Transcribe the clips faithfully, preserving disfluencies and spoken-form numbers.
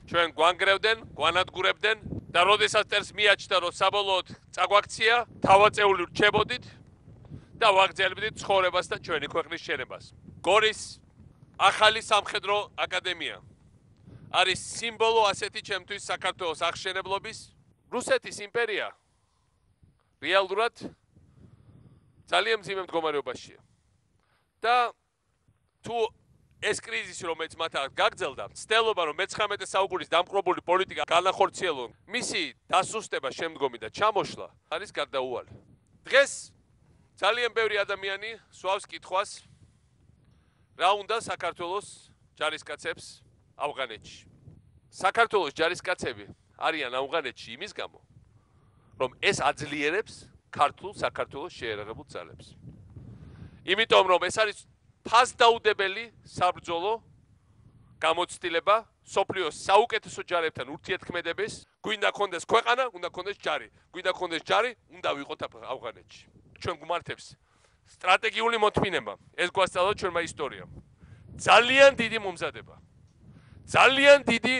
ჩვენ გვანგრევდნენ, გვანადგურებდნენ და როდესაც წერს მიაჩნდა, რომ საბოლოოდ წაგვაქცია, თავაწეული რჩებოდით და ვაგრძელებდით ცხოვრებას და ჩვენი ქვეყნის შენებას. გორის ახალი სამხედრო აკადემია არის სიმბოლო ასეთი ჩემთვის საქართველოს აღშენებლობის. რუსეთის იმპერია რეალურად ძალიან მძიმე მდგომარეობაშია. და თუ ეს კრიზისი, რომელიც მათ აქ გაგრძელდა, ცდილობა, რომ მეცხრამეტე საუკუნის დამყრობული პოლიტიკა განახორციელონ, მისი დასუსტება შემდგომი და ჩამოშლა არის გარდაუვალი. დღეს ძალიან ბევრი ადამიანი სვავს კითხვას, რა უნდა საქართველოს ჯარისკაცებს ავღანეთში. საქართველოს ჯარისკაცები არიან ავღანეთში იმის გამო, რომ ეს აძლიერებს ქართულ საქართველოს შეერაღებულ ძალებს. იმიტომ რომ ეს არის ფასდაუდებელი საბრძოლო გამოცდილება სოფლიოს საუკეთესო ჯარებთან ურთიერთქმედების, გვინდა კონდეს ქვეყანა, უნდა კონდეს ჯარი. გვინდა კონდეს ჯარი, უნდა ვიყოთ ავღანეთში. ჩვენ გვმართებს სტრატეგიული მოთმინება. ეს გვასწავლა ჩვენმა ისტორიამ. ძალიან დიდი მომზადება. ძალიან დიდი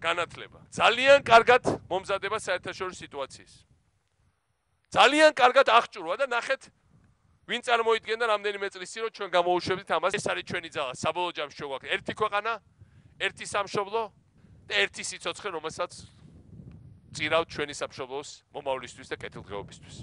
განათლება. ძალიან კარგად მომზადება საერთაშორისო სიტუაციის. ძალიან კარგად აღჭურვა და ნახეთ ვინ წარმოიდგენდა რამდენიმე წლის წინ რომ ჩვენ გამოუშვებდით ამას. ეს არის ჩვენი ძალა. საბოლოო ჯამში შეგვაქვს ერთი ქვეყანა, ერთი სამშობლო და ერთი სიცოცხლე, რომელსაც წირავთ ჩვენი სამშობლოს მომავლისთვის და კეთილდღეობისთვის.